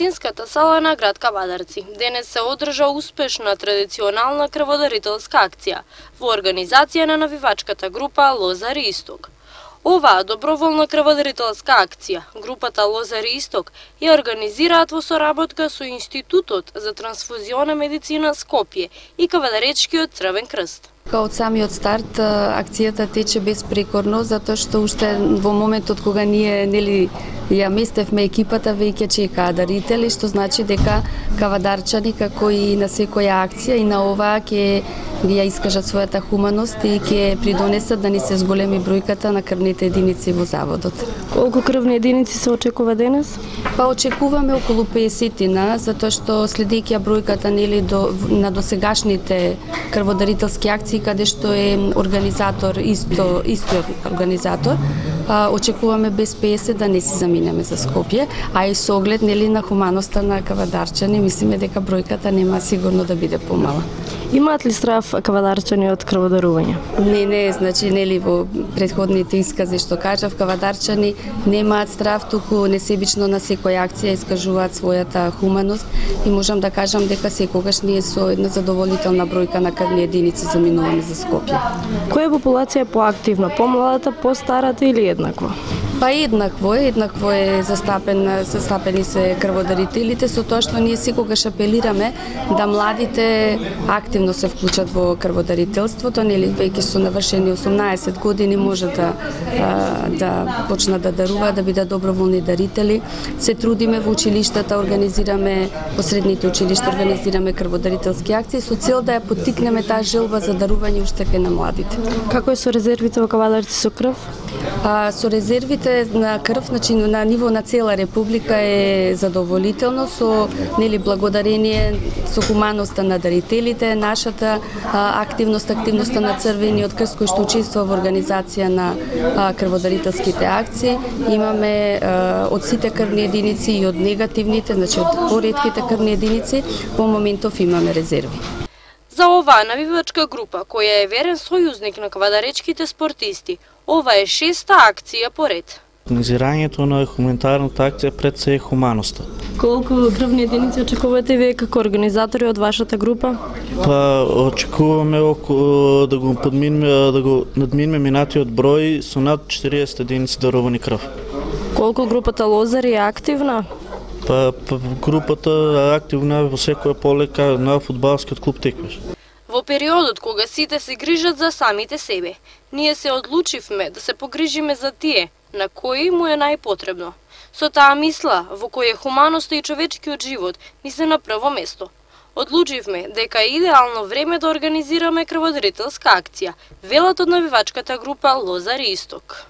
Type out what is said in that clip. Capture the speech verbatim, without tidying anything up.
Вистинската сала на град Кавадарци денес се одржа успешна традиционална крводарителска акција во организација на навивачката група Лозари Исток. Оваа доброволна крводарителска акција, групата Лозари Исток, ја организираат во соработка со Институтот за трансфузиона медицина Скопје и Кавадаречкиот Црвен крст. Од самиот старт акцијата тече безпрекорно, затоа што уште во моментот кога ние нели ја местевме екипата, веќе чекаа дарители, што значи дека кавадарчани како и на секоја акција и на оваа ќе ја искажат својата хуманост и ќе придонесат да ни се зголеми бројката на крвните единици во заводот. Колку крвни единици се очекува денес? Па очекуваме околу песетина, затоа што следејќи бројката нели до на досегашните крводарителски акции каде што е организатор исто истиот организатор, а, очекуваме без песет да не си заминеме за Скопје, а и со оглед нели на хуманоста на кавадарчани, мислиме дека бројката нема сигурно да биде помала. Имаат ли страв кавадарчани од крводарување? Не, не, значи нели во претходните искази што кажав, кавадарчани немаат страв, туку несебично на секоја акција искажуваат својата хуманост и можам да кажам дека секогаш ние со една задоволителна бројка на крвни единици заминуваме за Скопје. Која популација е поактивна, помладата, постарата или еднакво? Па еднакво е, еднакво е застапен, застапени се крводарителите, со тоа што ние секогаш апелираме да младите активно се вклучат во крводарителството, нели веќе со навршени осумнаесет години може да да почнат да даруваат, да бидат доброволни дарители. Се трудиме во училиштата, организираме во средните училишта, организираме крводарителски акции со цел да ја поттикнеме таа желба за дарување уште кај на младите. Како е со резервите во Кавадарци со крв? А, со резервите на крв, значи на ниво на цела република е задоволително со нели благодарение со хуманоста на дарителите, нашата а, активност, активноста на Црвениот крст кој што учествува во организација на а, крводарителските акции. Имаме а, од сите крвни единици и од негативните, значи од поретките крвни единици, по моментов имаме резерви. За оваа навивачка група, која е верен сојузник на кавадаречките спортисти, ова е шеста акција поред. Организирањето на хуманитарната акција пред се е хуманоста. Колку крвни единици очекувате вие како организатори од вашата група? Па очекуваме околу да го подминеме, да го надминеме минатиот број со над четириесет единици дарувани крв. Колку групата Лозари е активна? Па, па групата е активна во секоја полека на фудбалскиот клуб Теквеш. Во периодот кога сите се грижат за самите себе, ние се одлучивме да се погрижиме за тие на кои му е најпотребно. Со таа мисла, во која хуманоста и човечкиот живот ни се на прво место. Одлучивме дека е идеално време да организираме крводарителска акција, велат од навивачката група Лозари Исток.